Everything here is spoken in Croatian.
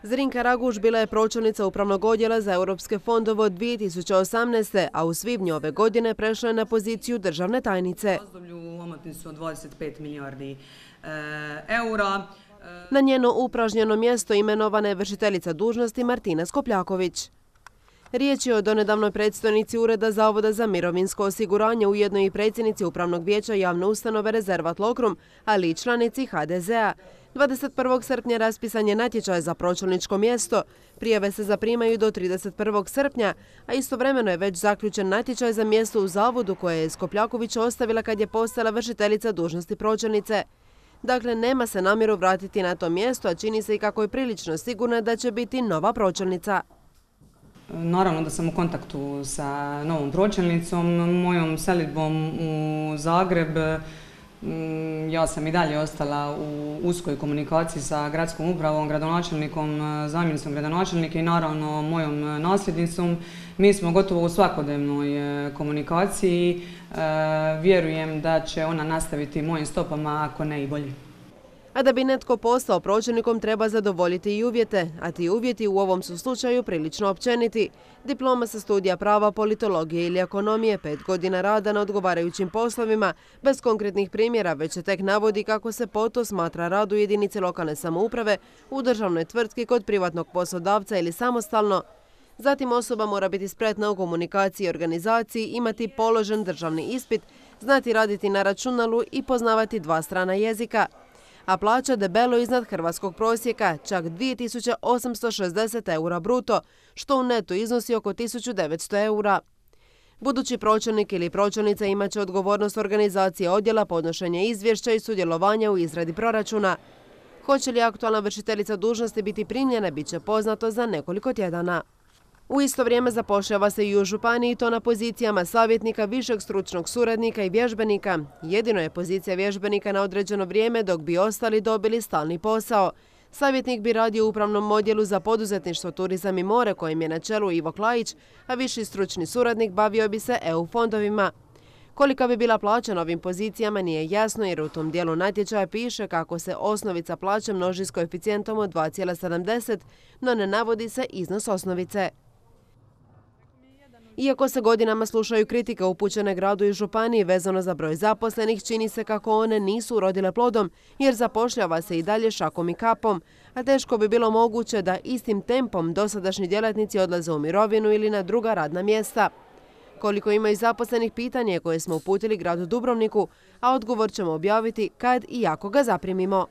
Zrinka Raguš bila je pročelnica Upravnog odjela za europske fondove od 2018. a u svibnju ove godine prešla je na poziciju državne tajnice. U omotnicu od 25 milijardi eura. Na njeno upražnjeno mjesto imenovana je vršiteljica dužnosti Martina Skopljaković. Riječ je o donedavnoj predstojnici Ureda Zavoda za mirovinsko osiguranje, ujedno i predsjednici Upravnog vijeća javne ustanove Rezervat Lokrum, ali i članici HDZ-a. 21. srpnja raspisan je natječaj za pročelničko mjesto. Prijave se zaprimaju do 31. srpnja, a istovremeno je već zaključen natječaj za mjesto u zavodu koje je Skopljaković ostavila kad je postala vršiteljica dužnosti pročelnice. Dakle, nema se namjeru vratiti na to mjesto, a čini se i kako je prilično sigurna da će biti nova pročelnica. Naravno da sam u kontaktu sa novom pročelnicom, mojom selidbom u Zagreb. Ja sam i dalje ostala u uskoj komunikaciji sa gradskom upravom, gradonačelnikom, zamjenicom gradonačelnika i naravno mojom nasljednicom. Mi smo gotovo u svakodnevnoj komunikaciji. Vjerujem da će ona nastaviti mojim stopama, ako ne i bolje. A da bi netko postao pročelnikom treba zadovoljiti i uvjete, a ti uvjeti u ovom su slučaju prilično općeniti. Diploma sa studija prava, politologije ili ekonomije, 5 godina rada na odgovarajućim poslovima, bez konkretnih primjera, već se tek navodi kako se po to smatra rad u jedinici lokalne samouprave, u državnoj tvrtki, kod privatnog poslodavca ili samostalno. Zatim osoba mora biti spretna u komunikaciji i organizaciji, imati položen državni ispit, znati raditi na računalu i poznavati 2 strana jezika. A plaća debelo iznad hrvatskog prosjeka, čak 2860 eura bruto, što u netu iznosi oko 1900 eura. Budući pročelnik ili pročelnica imat će odgovornost organizacije odjela, podnošenja izvješća i sudjelovanja u izradi proračuna. Hoće li aktualna vršiteljica dužnosti biti primljena, bit će poznato za nekoliko tjedana. U isto vrijeme zapošljava se i u županiji, to na pozicijama savjetnika, višeg stručnog suradnika i vježbenika. Jedino je pozicija vježbenika na određeno vrijeme, dok bi ostali dobili stalni posao. Savjetnik bi radio u Upravnom odjelu za poduzetništvo, turizam i more, kojim je na čelu Ivo Klajić, a viši stručni suradnik bavio bi se EU fondovima. Kolika bi bila plaća na ovim pozicijama nije jasno, jer u tom dijelu natječaja piše kako se osnovica plaće množi s koeficijentom od 2,70, no ne navodi se iznos osnovice. Iako se godinama slušaju kritike upućene gradu i županiji vezano za broj zaposlenih, čini se kako one nisu urodile plodom, jer zapošljava se i dalje šakom i kapom, a teško bi bilo moguće da istim tempom dosadašnji djelatnici odlaze u mirovinu ili na druga radna mjesta. Koliko imaju zaposlenih, pitanje koje smo uputili gradu Dubrovniku, a odgovor ćemo objaviti kad i ako ga zaprimimo.